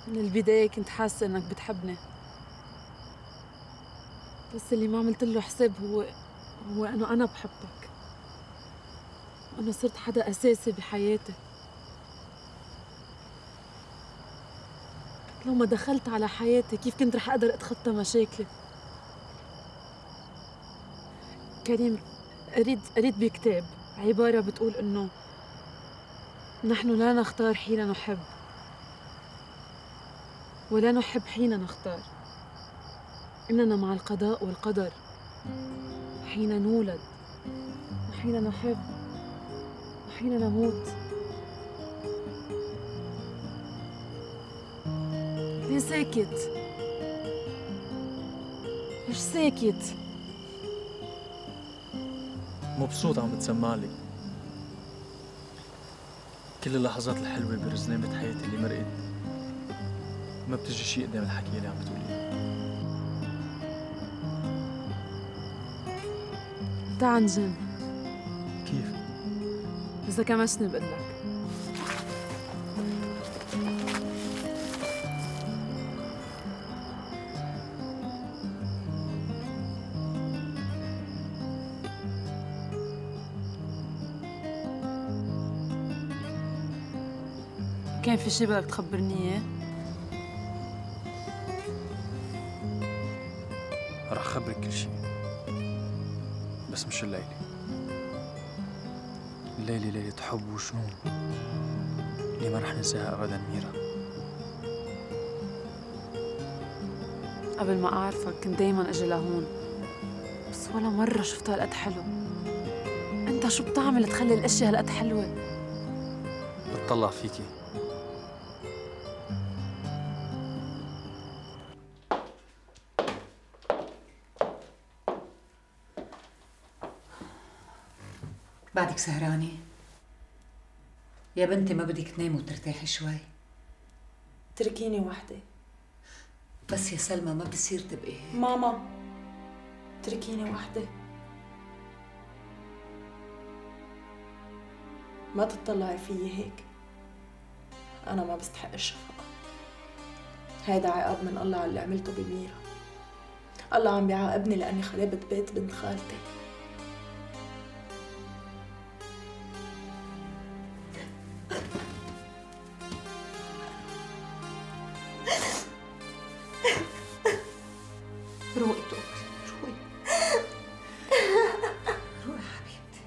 من البداية كنت حاسة إنك بتحبني، بس اللي ما عملت له حساب هو إنه أنا بحبك، وإنه صرت حدا أساسي بحياتي. لو ما دخلت على حياتي كيف كنت رح أقدر أتخطى مشاكلي؟ كريم، قريت بكتاب عبارة بتقول إنه نحن لا نختار حين نحب، ولا نحب حين نختار، إننا مع القضاء والقدر، حين نولد وحين نحب وحين نموت. ليه ساكت؟ ليش ساكت؟ مبسوط عم بتسمعلي. كل اللحظات الحلوة برزنامة حياتي اللي مرقت ما بتجي شي قدام الحكي اللي عم بتقوليه. تعا نجن. كيف؟ إذا كمشني بقلك. كان في شي بدك تخبرني إياه؟ رح خبرك كل شي، بس مش الليلة. الليلة ليلة حب وجنون اللي ما رح ننساها أبداً ميرا. قبل ما أعرفك كنت دايماً أجي لهون، بس ولا مرة شفتها هالقد حلو. أنت شو بتعمل تخلي الأشياء هالقد حلوة؟ بتطلع فيكي. بعدك سهرانة؟ يا بنتي ما بدك تنامي وترتاحي شوي؟ اتركيني وحدي. بس يا سلمى ما بصير تبقي هيك. ماما اتركيني وحدي. ما تطلعي فيي هيك، أنا ما بستحق الشفقة. هيدا عقاب من الله على اللي عملته بميرا. الله عم بيعاقبني لأني خربت بيت بنت خالتي. روقي توكلي، روقي روقي حبيبتي.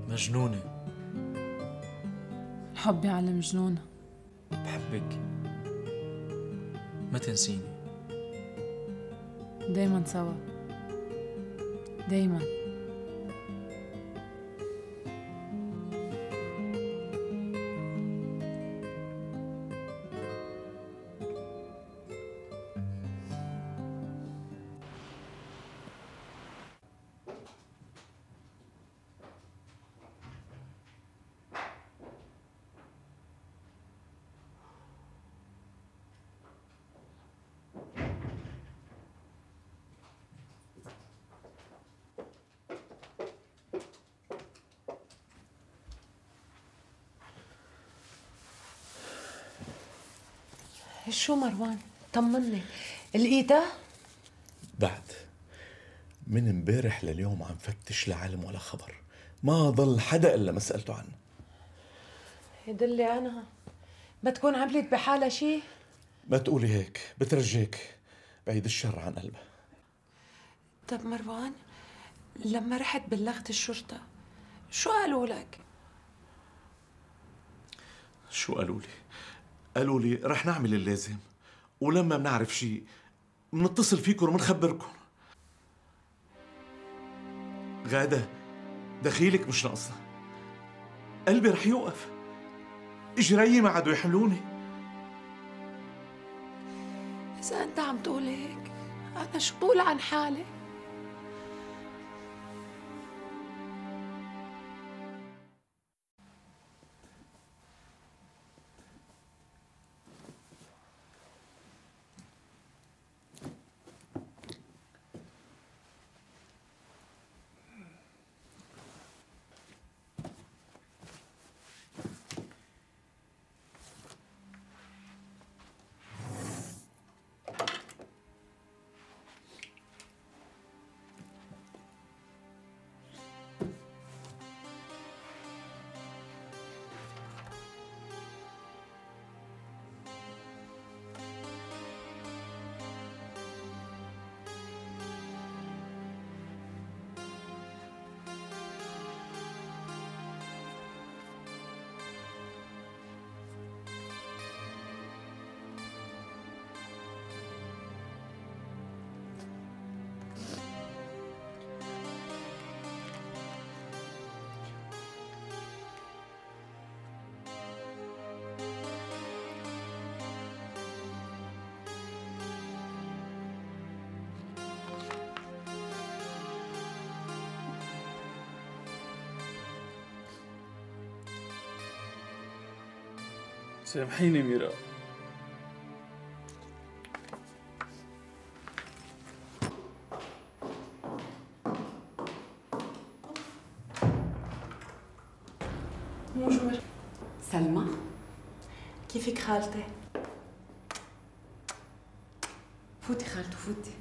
مجنونة. الحب يعلم جنونة. بحبك، ما تنسيني. دايماً سوا، دايماً. شو مروان؟ طمني، لقيتها؟ من امبارح لليوم عم فتش لعلم ولا خبر، ما ضل حدا إلا ما سألته عنه. يدلي أنا بتكون عملت بحالها شي؟ ما تقولي هيك، بترجيك بعيد الشر عن قلبها. طب مروان، لما رحت بلغت الشرطة شو قالوا لك؟ شو قالوا لي؟ قالوا لي رح نعمل اللازم، ولما بنعرف شي منتصل فيكم ومنخبركم. غادة دخيلك مش ناقصة، قلبي رح يوقف، اجري ما عادوا يحملوني. إذا أنت عم تقول هيك أنا شو بقول عن حالي؟ سامحيني ميرا. بونجور. سلمى، كيفك خالتي؟ فوتي خالته فوتي.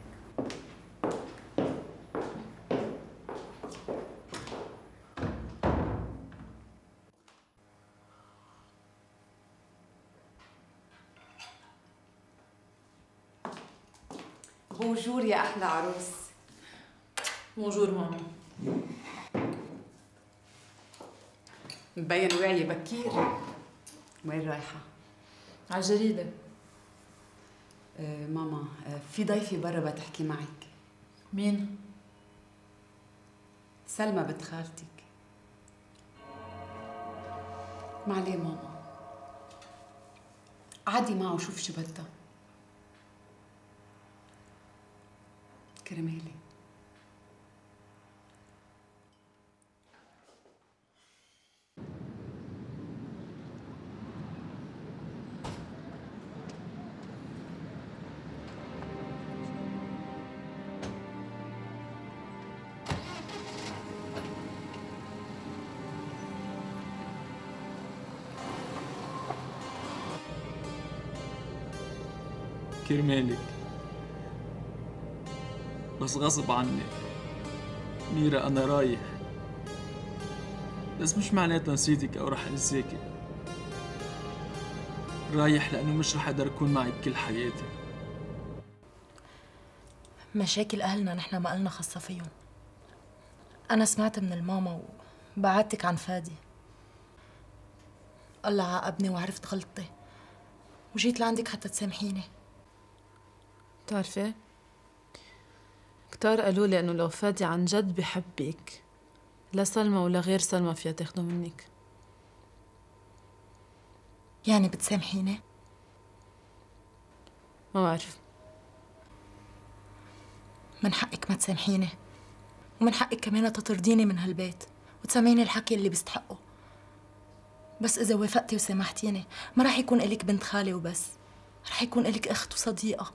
بونجور يا أحلى عروس. بونجور ماما. مبين وعي بكير. وين رايحة؟ على الجريدة. ماما، في ضيفة برا بتحكي معك. مين؟ سلمى بنت خالتك. معليه ماما، قعدي معه وشوف شو بدها. كرمالي. كرمالك، بس غصب عني ميرا. أنا رايح، بس مش معناتها نسيتك أو رح أنساكي. رايح لأنه مش رح أقدر أكون معك كل حياتي. مشاكل أهلنا نحن ما قلنا خاصة فيهم. أنا سمعت من الماما وبعدتك عن فادي. الله عاقبني وعرفت غلطتي وجيت لعندك حتى تسامحيني. بتعرفي؟ كتار قالوا لي انه لو فادي عن جد بحبك لا سلمى ولا غير سلمى فيها تاخده منك. يعني بتسامحيني؟ ما بعرف. من حقك ما تسامحيني، ومن حقك كمان تطرديني من هالبيت وتسمعيني الحكي اللي بيستحقه. بس إذا وافقتي وسامحتيني ما رح يكون إلك بنت خالي وبس، رح يكون إلك أخت وصديقة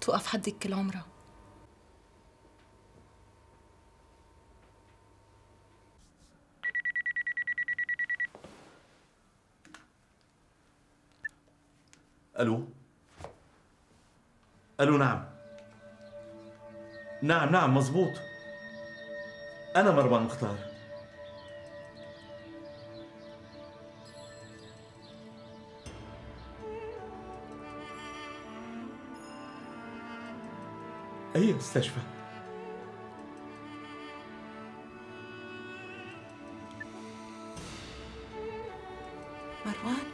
توقف حدك كل عمرها. الو. الو. نعم نعم مزبوط. أنا مروان مختار. أي مستشفى؟ مروان،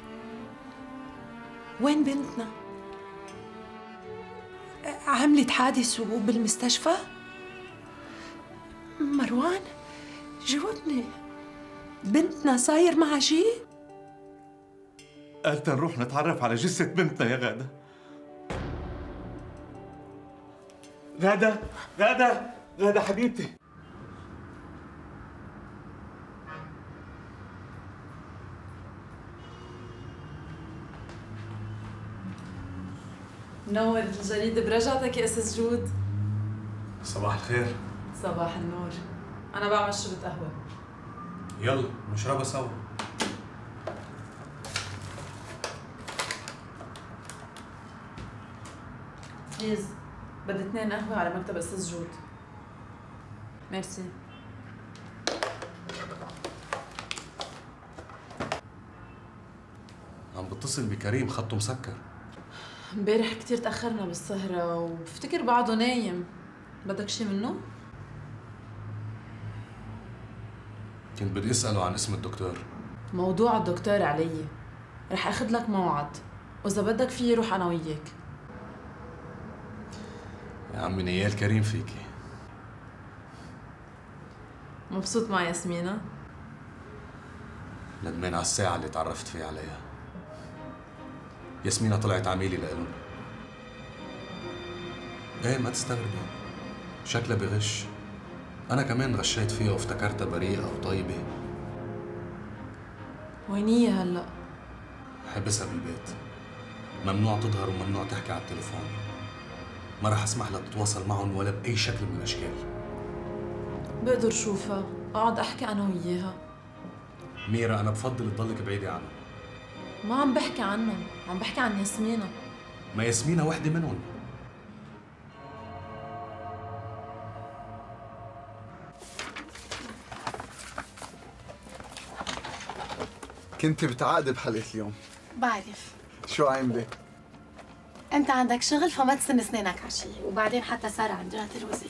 وين بنتنا؟ عملت حادث وبالمستشفى؟ مروان، جاوبني، بنتنا صاير معها شي؟ قالت نروح نتعرف على جثة بنتنا يا غادة. غادة حبيبتي. نور الجريدة برجعتك يا أستاذ جود. صباح الخير. صباح النور. أنا بعمل شربة قهوة. يلا نشربها سوا. بليز، بدي 2 قهوة على مكتب أستاذ جود. ميرسي. عم بتصل بكريم، خطه مسكر. امبارح كتير تأخرنا بالسهرة وبفتكر بعده نايم. بدك شي منه؟ كنت بدي اسأله عن اسم الدكتور. موضوع الدكتور علي. رح اخذ لك موعد، وإذا بدك فيي روح أنا وياك. يا عمي نيال كريم فيكي. مبسوط مع ياسمينة؟ ندمان على الساعة اللي تعرفت فيها عليها. ياسمينة طلعت عميلة لإلهم. ايه ما تستغربي، شكلها بغش. أنا كمان غشيت فيها وافتكرتها بريئة وطيبة. وين هي هلأ؟ حبسها بالبيت، ممنوع تظهر وممنوع تحكي على التليفون. ما رح أسمح لها تتواصل معهم ولا بأي شكل من الأشكال. بقدر شوفها، أقعد أحكي أنا وياها. ميرا أنا بفضل تضلك بعيدة عنها. ما عم بحكي عنهم، عم بحكي عن ياسمينة. ما ياسمينة وحدة منهم. كنت بتعقد بحلقة اليوم. بعرف. شو عاملة؟ انت عندك شغل فما تسن اسنانك عشي، وبعدين حتى سارة عند جهة الوزي.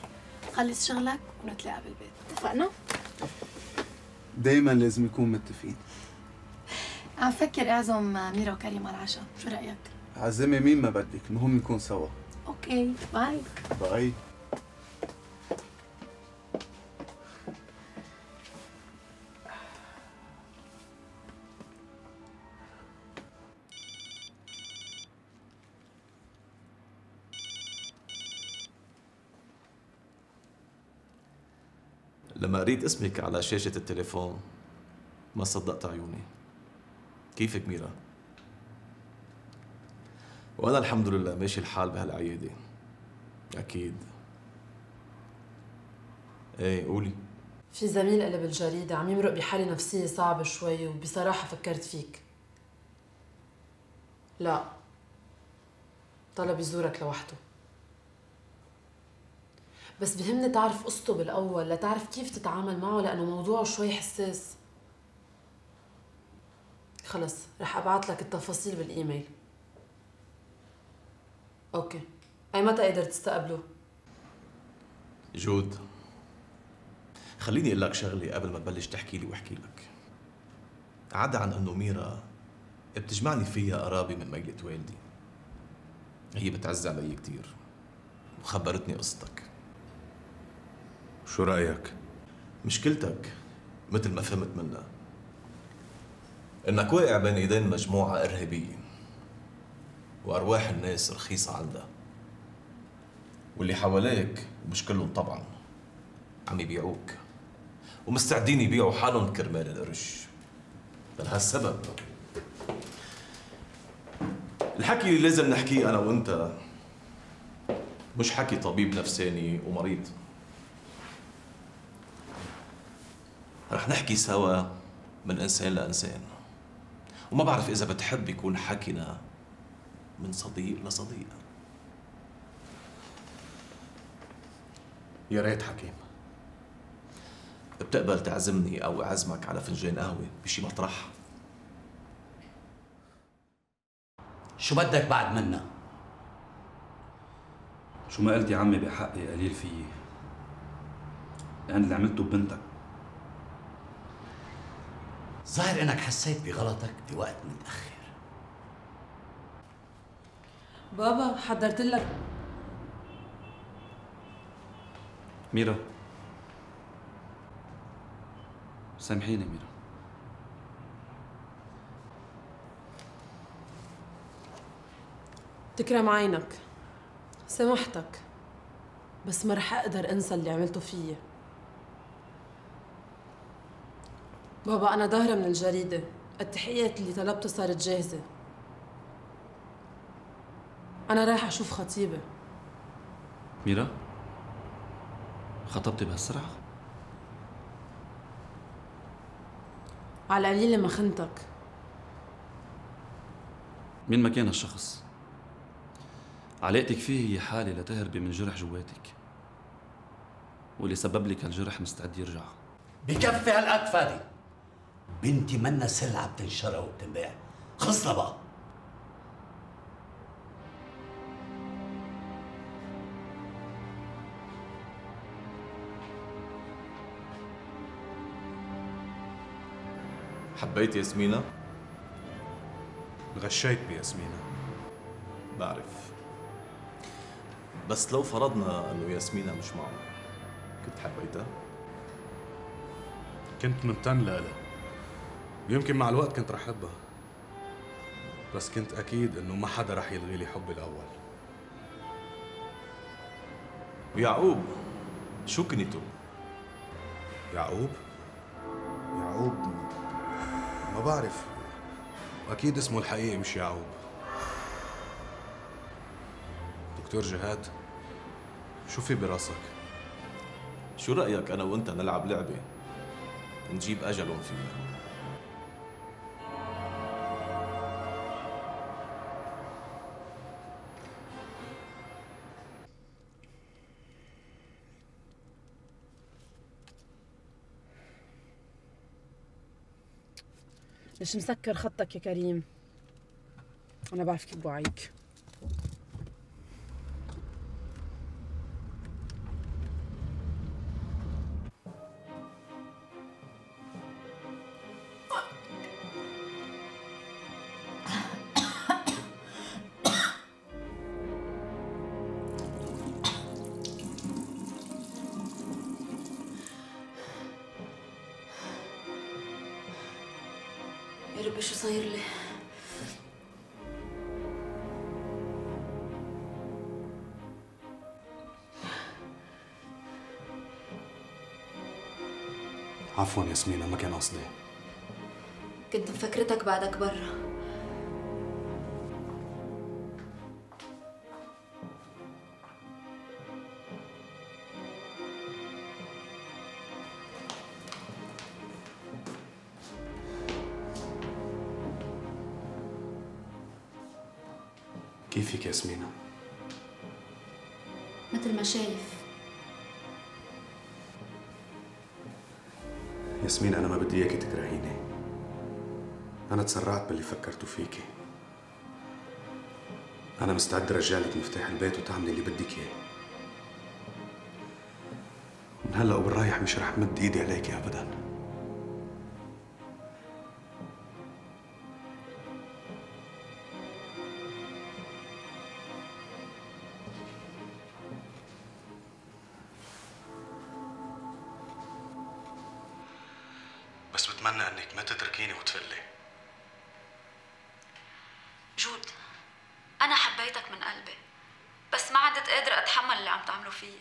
خلص شغلك ونتلاقى بالبيت، اتفقنا؟ دايما لازم نكون متفقين. عم فكر اعزم ميرا وكريم على العشاء، شو رأيك؟ عزمي مين ما بدك، المهم نكون سوا. اوكي، باي. باي. لما قريت اسمك على شاشة التليفون ما صدقت عيوني. كيفك ميرا؟ وأنا الحمد لله ماشي الحال بهالعيادة. أكيد. إيه قولي. في زميل إلي بالجريدة عم يمرق بحالة نفسية صعبة شوي، وبصراحة فكرت فيك. لا، طلب يزورك لوحده. بس بهمني تعرف قصته بالأول لتعرف كيف تتعامل معه، لأنه موضوعه شوي حساس. خلص، رح أبعت لك التفاصيل بالإيميل. أوكي. أي متى قدرت تستقبله؟ جود، خليني أقول لك شغلة قبل ما تبلش تحكي لي واحكي لك. عدا عن إنه ميرا بتجمعني فيها قرابة من ميلة والدي. هي بتعز علي كتير وخبرتني قصتك. شو رأيك؟ مشكلتك مثل ما فهمت منها انك واقع بين ايدين مجموعة ارهابية وارواح الناس رخيصة عندها، واللي حواليك مش كلهم طبعا عم يبيعوك ومستعدين يبيعوا حالهم كرمال القرش. لهالسبب الحكي اللي لازم نحكيه انا وانت مش حكي طبيب نفساني ومريض. رح نحكي سوا من إنسان لإنسان، وما بعرف إذا بتحب يكون حكينا من صديق لصديق. يا ريت حكيم. بتقبل تعزمني أو أعزمك على فنجان قهوة بشي مطرح؟ شو بدك بعد منا؟ شو ما قلت يا عمي بحقي قليل فيي. لأن اللي عملته ببنتك. ظاهر انك حسيت بغلطك بوقت متأخر. بابا حضرت لك. ميرا سامحيني ميرا. تكرم عينك، سامحتك، بس ما رح اقدر انسى اللي عملته فيي. بابا انا ظاهرة من الجريدة، التحقيقات اللي طلبتها صارت جاهزة. انا رايحة اشوف خطيبة. ميرا خطبتي بهالسرعة؟ على القليلة ما خنتك. مين ما كان هالشخص، علاقتك فيه هي حالة لتهربي من جرح جواتك، واللي سبب لك هالجرح مستعد يرجع. بكفي هالقد فادي. بنتي منا سلعة بتنشرى وبتنباع. خلصنا بقى. حبيت ياسمينة؟ غشيت بياسمينة. بعرف، بس لو فرضنا انه ياسمينة مش معه، كنت حبيتها؟ كنت ممتن لها، ويمكن مع الوقت كنت رح احبها، بس كنت اكيد انه ما حدا رح يلغي لي حبي الاول. ويعقوب شو كنيته؟ يعقوب ما بعرف، اكيد اسمه الحقيقي مش يعقوب. دكتور جهاد، شو في براسك؟ شو رأيك أنا وأنت نلعب لعبة نجيب أجلهم فيها؟ ليش مسكر خطك يا كريم؟ أنا بعرف كيف بوعيك. يا ربي شو صاير لي؟ عفوا ياسمينة، ما كان قصدي. كنت مفكرتك بعدك برا. كيفك ياسمينة؟ مثل ما شايف. ياسمين، أنا ما بدي إياكي تكرهيني. أنا تسرعت باللي فكرته فيكي. أنا مستعد أرجع لك مفتاح البيت وتعملي اللي بدك إياه. من هلا وبالرايح مش رح مد إيدي عليكي أبداً. بس بتمنى انك ما تتركيني وتفلي. جود، أنا حبيتك من قلبي، بس ما عدت قادرة أتحمل اللي عم تعمله فيي.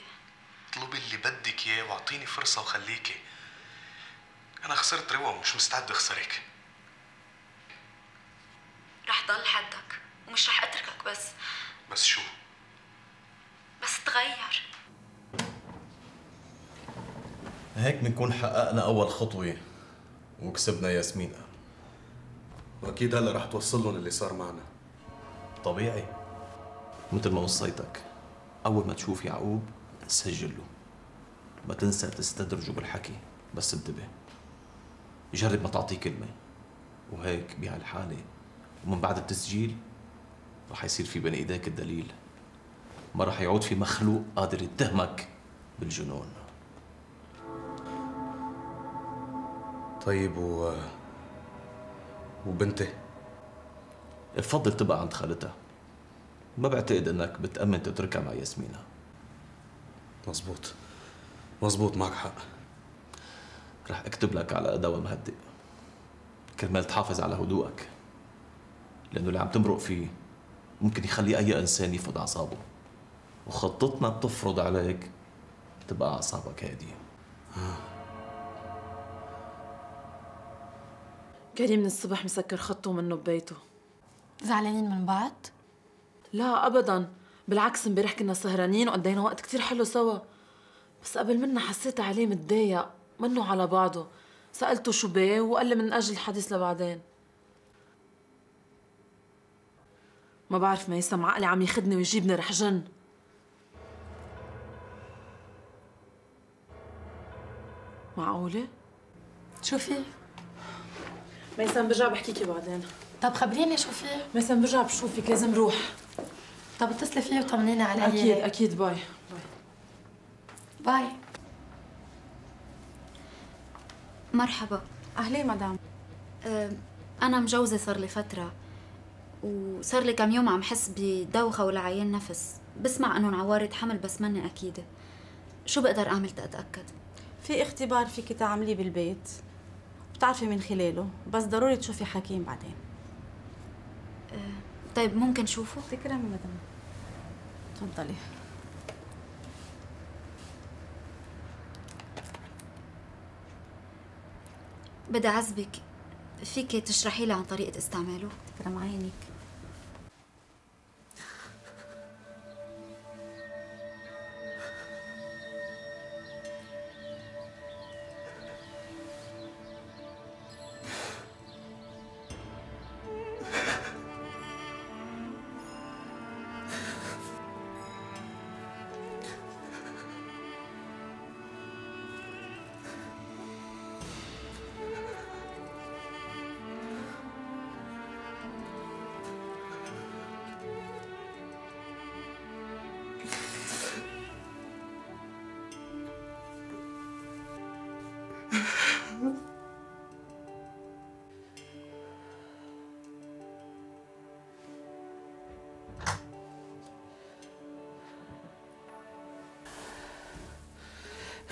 اطلبي اللي بدك اياه واعطيني فرصة وخليكي. أنا خسرت روا ومش مستعد أخسرك. رح ضل حدك ومش رح أتركك بس شو؟ بس تغير. هيك بنكون حققنا أول خطوة وكسبنا ياسمينة. وأكيد هلا رح توصل لهم اللي صار معنا. طبيعي، مثل ما وصيتك، أول ما تشوف يعقوب نسجل له. ما تنسى تستدرجه بالحكي، بس انتبه يجرب ما تعطيه كلمة، وهيك بهالحالة ومن بعد التسجيل رح يصير في بين ايديك الدليل، ما رح يعود في مخلوق قادر يتهمك بالجنون. طيب وبنتي؟ بفضل تبقى عند خالتها، ما بعتقد انك بتأمن تتركها مع ياسمينة. مزبوط معك حق. رح اكتب لك على دواء مهدئ كرمال تحافظ على هدوءك، لانه اللي عم تمرق فيه ممكن يخلي اي انسان يفقد اعصابه، وخطتنا بتفرض عليك تبقى اعصابك هاديه. كريم من الصبح مسكر خطه منه ببيته. زعلانين من بعض؟ لا ابدا، بالعكس امبارح كنا سهرانين وقضينا وقت كتير حلو سوا، بس قبل منا حسيت عليه متضايق منه على بعضه. سألته شو بيه وقال لي من أجل الحديث لبعدين. ما بعرف ميسم، عقلي عم ياخدني ويجيبني رح جن. معقولة؟ شو في؟ ميسم برجع بحكيكي بعدين. طب خبريني شو في؟ ميسم برجع بشوفك، لازم روح. طب اتصلي فيه وطمنيني عليه. أكيد أكيد. باي باي. مرحبا. أهلين مدام. أنا مجوزة صار لي فترة، وصار لي كم يوم عم حس بدوخة ولعيان نفس، بسمع إنه عوارض حمل بس ماني أكيدة. شو بقدر أعمل تأتأكد؟ في اختبار فيكي تعمليه بالبيت بتعرفي من خلاله، بس ضروري تشوفي حكيم بعدين. طيب ممكن شوفه؟ تكرمي مدام. تفضلي. بدي أعذبك، فيكي تشرحي لي عن طريقة استعماله؟ تكرم عينك.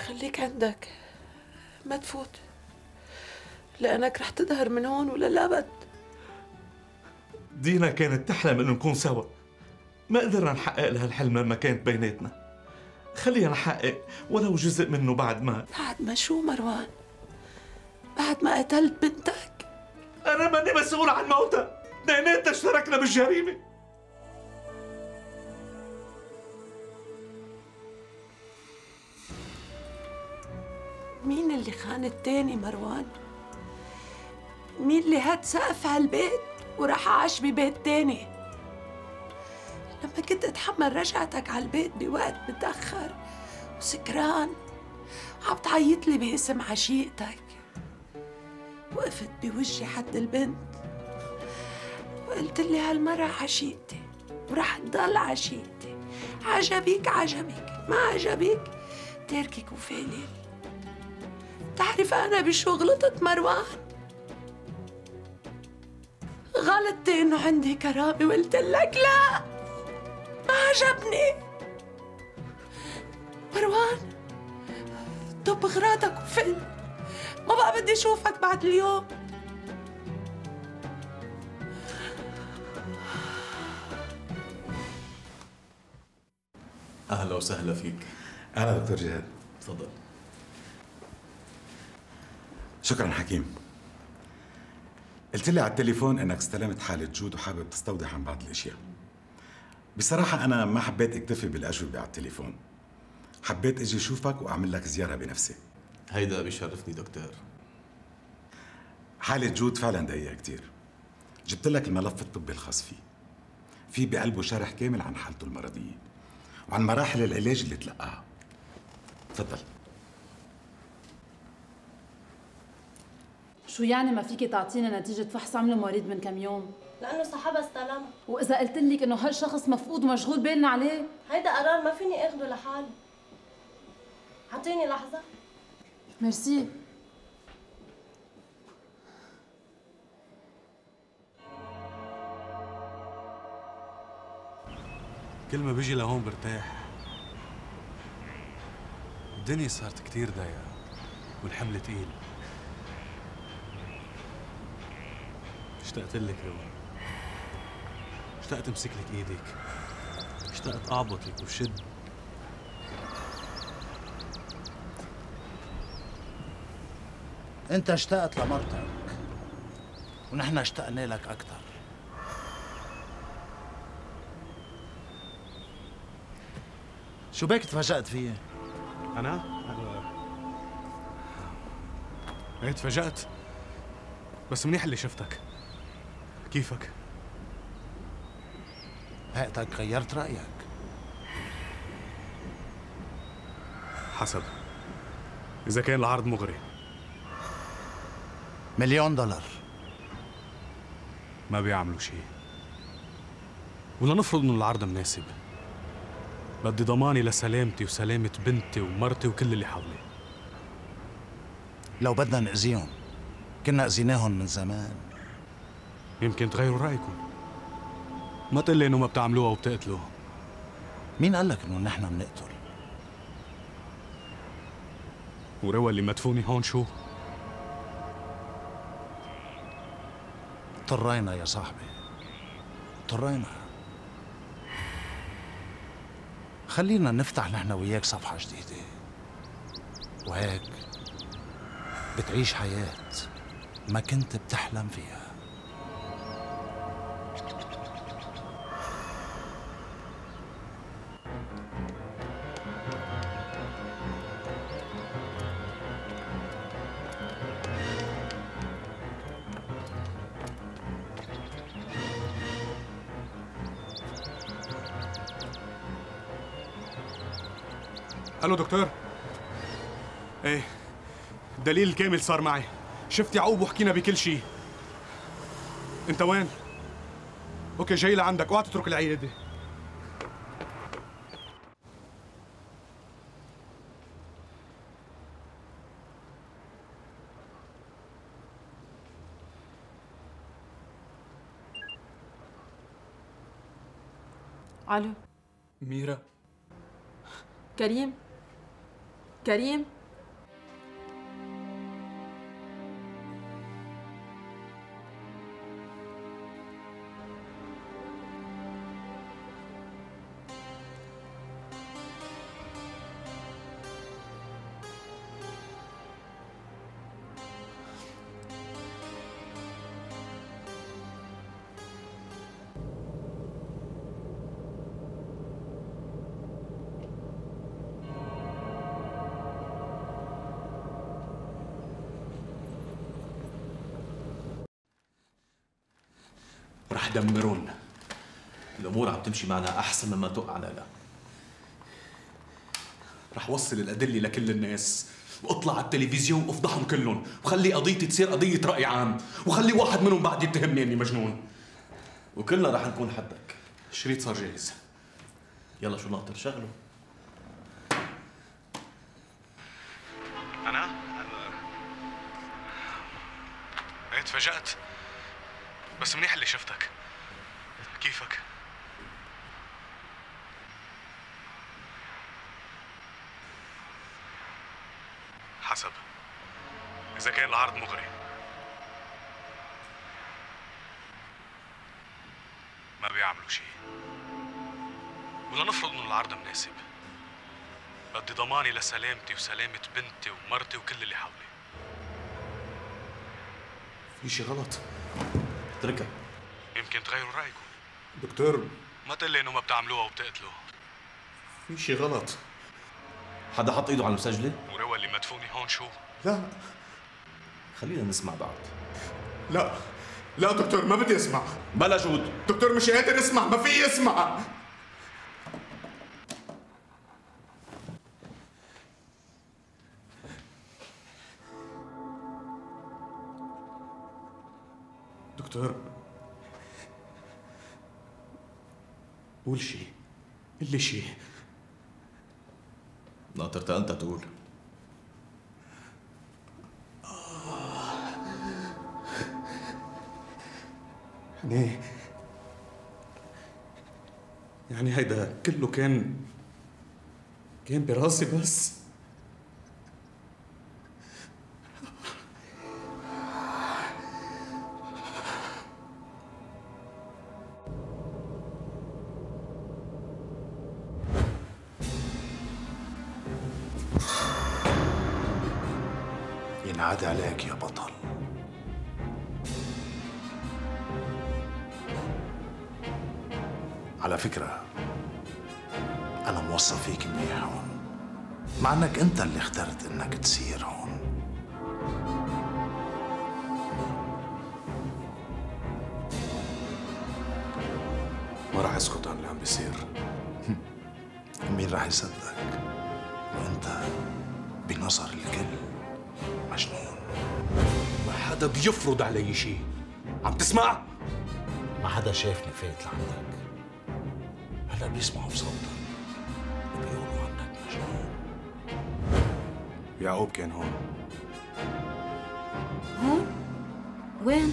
خليك عندك، ما تفوت، لأنك رح تظهر من هون وللأبد. دينا كانت تحلم إنه نكون سوا، ما قدرنا نحقق لها الحلم لما كانت بيناتنا. خلينا نحقق ولو جزء منه بعد ما شو مروان؟ بعد ما قتلت بنتك؟ أنا ماني مسؤول عن موتها، اثنيناتنا اشتركنا بالجريمة. مين اللي خان التاني مروان؟ مين اللي هاد سقف هالبيت وراح عاش ببيت تاني؟ لما كنت اتحمل رجعتك على البيت بوقت متأخر وسكران عم تعيط لي باسم عشيقتك، وقفت بوجهي حد البنت وقلت لي هالمرة عشيقتي ورح تضل عشيقتي، عجبك عجبك، ما عجبك تركك وفالي. تعرف أنا بشو غلطت مروان؟ غلطتي إنه عندي كرامة وقلت لك لا، ما عجبني. مروان طب أغراضك وفل، ما بقى بدي أشوفك بعد اليوم. أهلا وسهلا فيك. أهلا دكتور جهاد. تفضل. شكرا حكيم. قلت لي على التليفون انك استلمت حالة جود وحابب تستوضح عن بعض الاشياء. بصراحة انا ما حبيت اكتفي بالاجوبة على التليفون، حبيت اجي اشوفك واعمل لك زيارة بنفسي. هيدا بيشرفني دكتور. حالة جود فعلا دقيقة كتير. جبت لك الملف الطبي الخاص فيه، في بقلبه شرح كامل عن حالته المرضية وعن مراحل العلاج اللي تلقاها. تفضل. شو يعني ما فيكي تعطيني نتيجة فحص عمله مريض من كم يوم؟ لأنه صاحبها استلم. وإذا قلت لك إنه هالشخص مفقود ومشغول بالنا عليه؟ هيدا قرار ما فيني اخده لحالي. اعطيني لحظة. ميرسي. كل ما بيجي لهون برتاح. الدنيا صارت كتير ضيقة والحمل تقيل. اشتقت لك روى. اشتقت امسك لك ايدك. اشتقت اعبطك وشد. انت اشتقت لمرتك ونحن اشتقنا لك اكثر. شو بك تفاجأت فيي؟ انا ايه تفاجأت، بس منيح اللي شفتك. كيفك؟ هيئتك غيرت رأيك. حسب، إذا كان العرض مغري. $1,000,000 ما بيعملوا شيء. ولا نفرض إنه العرض مناسب. بدي ضماني لسلامتي وسلامة بنتي ومرتي وكل اللي حولي. لو بدنا نأذيهم كنا أذيناهم من زمان. يمكن تغيروا رأيكم. ما تقلي إنه ما بتعملوها وبتقتلوا. مين قال لك إنه نحن بنقتل؟ وروى اللي مدفوني هون شو؟ اضطرينا يا صاحبي، اضطرينا. خلينا نفتح نحن وياك صفحة جديدة، وهيك بتعيش حياة ما كنت بتحلم فيها. الو دكتور. ايه الدليل الكامل صار معي. شفت يعقوب وحكينا بكل شيء. انت وين؟ اوكي جاي لعندك، اوعى تترك العياده. الو ميرا. كريم. كريم. رح دمرون. الامور عم تمشي معنا احسن مما توقعنا لها. رح وصل الادله لكل الناس، واطلع على التلفزيون وافضحهم كلهم، وخلي قضيتي تصير قضيه راي عام، وخلي واحد منهم بعد يتهمني اني مجنون. وكلنا رح نكون حدك. الشريط صار جاهز. يلا شو ناطر شغله. انا ايه تفاجأت، بس منيح اللي شفتك. كيفك؟ حسب، إذا كان العرض مغري. ما بيعملوا شيء. ولا نفرض إنه العرض مناسب. بدي ضماني لسلامتي وسلامة بنتي ومرتي وكل اللي حولي. في شيء غلط. اتركها. يمكن تغيروا رأيكم. دكتور ما تقول لي إنه ما بتعملوها وبتقتلوا. في شيء غلط. حدا حط ايده على المسجلة؟ وروى اللي مدفوني هون شو؟ لا. خلينا نسمع بعض. لا لا دكتور، ما بدي اسمع. بلا جود. دكتور مش قادر اسمع، ما في اسمع. دكتور، قول شي، قل لي شي. ناطرت انت تقول. يعني هيدا كله كان براسي بس. ينعاد عليك يا بطل. على فكرة أنا موصى فيك منيح هون، مع إنك أنت اللي اخترت إنك تصير هون. ما راح اسكت عن اللي عم بيصير. مين راح يصدق وأنت بنظر الكل مجنون؟ ما حدا بيفرض علي شيء، عم تسمع؟ ما حدا شافني فايت لعندك، هلا بيسمعوا بصوتك وبيقولوا عنك مجنون. يعقوب كان هون. هون؟ وين؟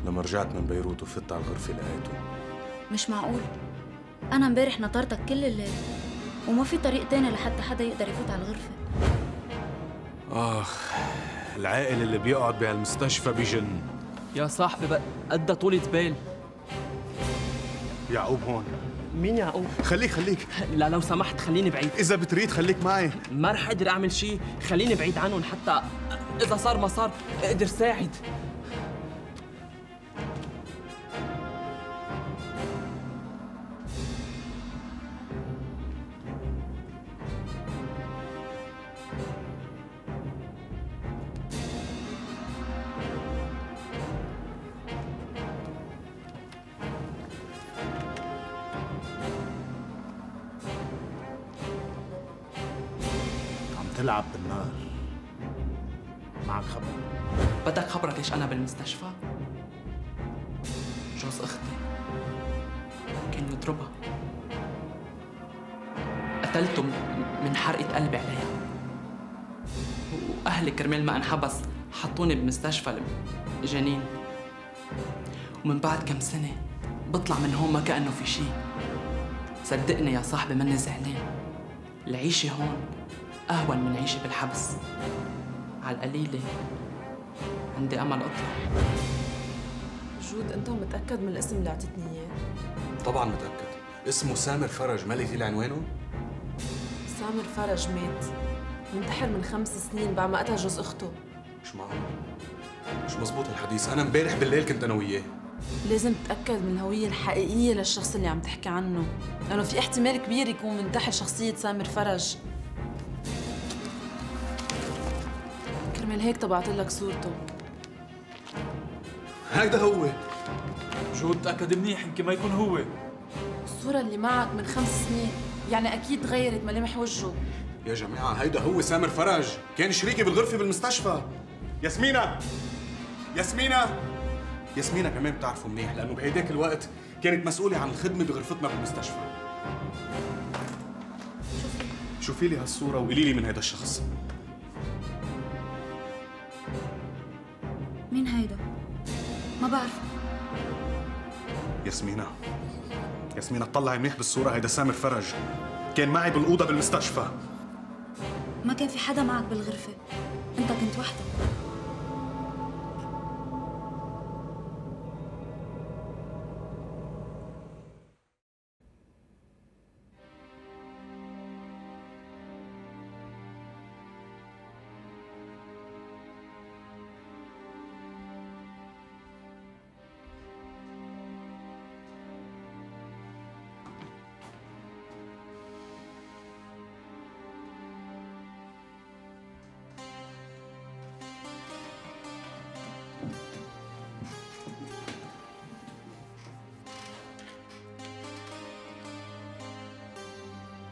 لما رجعت من بيروت وفت على الغرفة لقيته. مش معقول. أنا امبارح نطرتك كل الليل وما في طريق تاني لحتى حدا يقدر يفوت على الغرفة. آخ، العائل اللي بيقعد بهالمستشفى بجن. يا صاحبي بقى قد طولة بال. يعقوب هون. مين يعقوب؟ خليك لا لو سمحت خليني بعيد. إذا بتريد خليك معي. ما رح أقدر أعمل شيء، خليني بعيد عنهم حتى إذا صار ما صار أقدر ساعد. تلعب بالنار. معك خبر؟ بدك خبرك ليش أنا بالمستشفى؟ جوز أختي كان يضربها، قتلته من حرقة قلبي عليها، وأهلي كرمال ما انحبس حطوني بمستشفى جنين، ومن بعد كم سنة بطلع من هون ما كأنه في شي. صدقني يا صاحبي مني زعلان، العيشة هون أهون من عيشة بالحبس. على القليلة عندي أمل أطلع. جود، أنت متأكد من الاسم اللي أعطيتني إياه؟ طبعا متأكد، اسمه سامر فرج. ما لقيتي لي عنوانه؟ سامر فرج مات، منتحر من 5 سنين بعد ما قتل جوز أخته. مش معقول، مش مزبوط الحديث. أنا امبارح بالليل كنت أنا وياه. لازم تتأكد من الهوية الحقيقية للشخص اللي عم تحكي عنه، لأنه في احتمال كبير يكون منتحل شخصية سامر فرج. كرمال هيك طبعت لك صورته. هيدا هو. جود تأكد منيح يمكن ما يكون هو. الصورة اللي معك من 5 سنين، يعني أكيد تغيرت ملامح وجهه. يا جماعة هيدا هو سامر فرج، كان شريكي بالغرفة بالمستشفى. ياسمينة كمان بتعرفه منيح، لأنه بهيداك الوقت كانت مسؤولة عن الخدمة بغرفتنا بالمستشفى. شوفي لي هالصورة وقولي لي من هيدا الشخص. مين هيدا؟ ما بعرف. ياسمينة اطلعي منيح بالصورة، هيدا سامر فرج، كان معي بالأوضة بالمستشفى. ما كان في حدا معك بالغرفة، أنت كنت وحدك.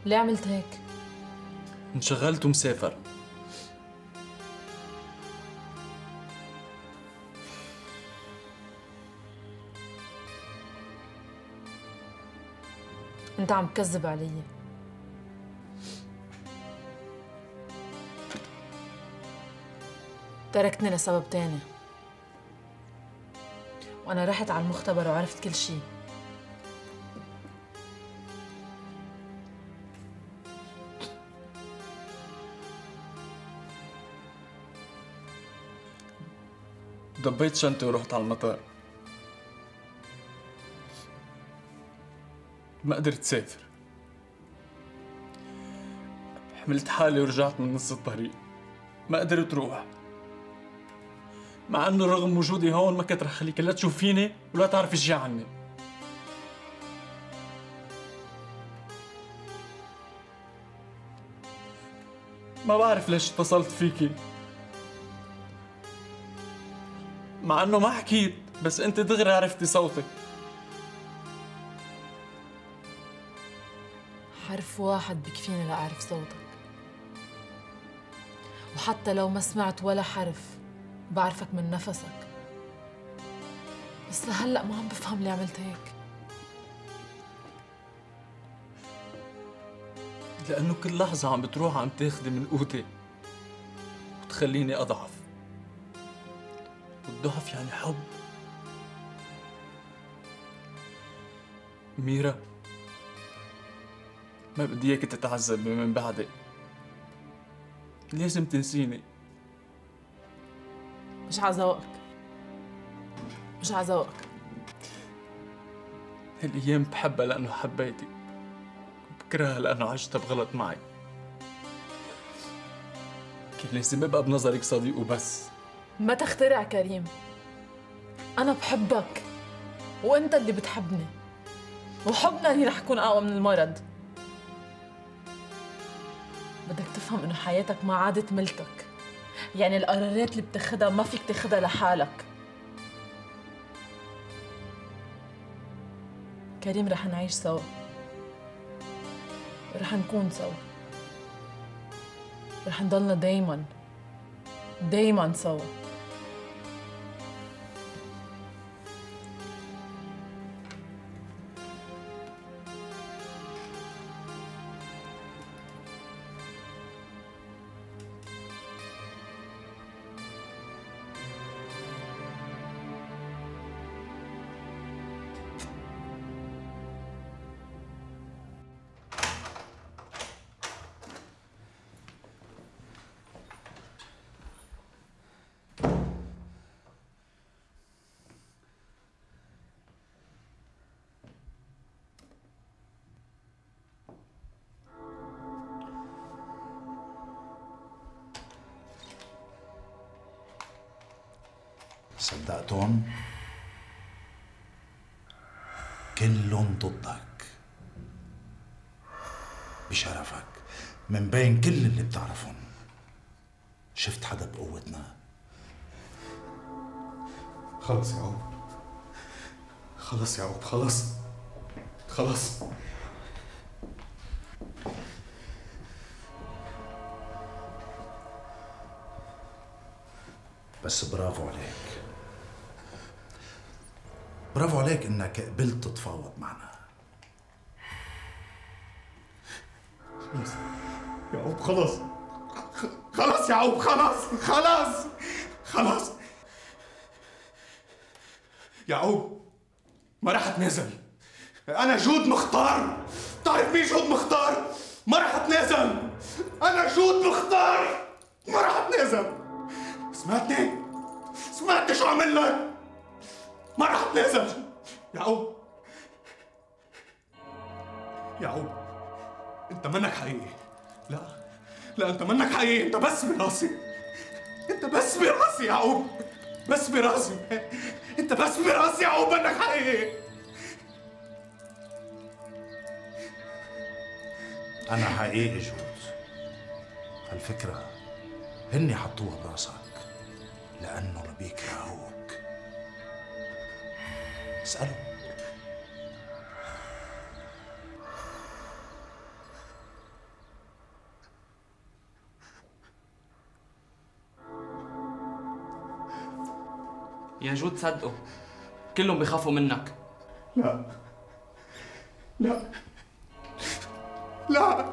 ليه عملت هيك؟ انشغلت ومسافر. انت عم تكذب علي. تركتني لسبب تاني، وانا رحت على المختبر وعرفت كل شي. دبيت شنطتي ورحت على المطار. ما قدرت سافر. حملت حالي ورجعت من نص الطريق. ما قدرت روح، مع انه رغم وجودي هون ما كنت رح خليك لا تشوفيني ولا تعرفي شي عني. ما بعرف ليش اتصلت فيكي، مع انه ما حكيت، بس انت دغري عرفتي صوتك. حرف واحد بكفيني لأعرف صوتك، وحتى لو ما سمعت ولا حرف بعرفك من نفسك. بس لهلأ ما عم بفهم ليه عملت هيك. لأنه كل لحظة عم بتروح عم تاخدي من قوتي وتخليني أضعف، والضعف يعني حب. ميرا، ما بدي اياك تتعذبي من بعدي. لازم تنسيني. مش عذوقك، مش عذوقك. هالأيام بحبها لأنه حبيتي، وبكرهها لأنه عشتها بغلط معي. كان لازم ابقى بنظرك صديق وبس. ما تخترع كريم، أنا بحبك وأنت اللي بتحبني، وحبنا اللي رح يكون أقوى من المرض. بدك تفهم إنه حياتك ما عادت ملكك، يعني القرارات اللي بتاخدها ما فيك تاخدها لحالك. كريم رح نعيش سوا، رح نكون سوا، رح نضلنا دايما دايما سوا. صدقتهم؟ كلهم ضدك بشرفك من بين كل اللي بتعرفهم. شفت حدا بقوتنا؟ خلص يا عوب، خلص يا عوب، خلص خلص. بس برافو عليك، برافو عليك انك قبلت تتفاوض معنا. خلص يا عوب، خلص خلص يا عوب، خلص خلص خلص يا عوب. ما راح اتنازل. انا جود مختار. تعرف مين جود مختار؟ ما راح اتنازل. انا جود مختار، ما راح اتنازل. سمعتني؟ سمعت شو عمل لك؟ ما راح اتنازل. يعقوب، يعقوب، انت منك حقيقي. لا لا، انت منك حقيقي، انت بس براسي. انت بس براسي يا يعقوب، بس براسي. انت بس براسي يا يعقوب، منك حقيقي. انا حقيقي جود. هالفكرة هني حطوها براسك لأنه بيكرهوك. اسأله. يا جود صدقوا، كلهم بيخافوا منك. لا لا لا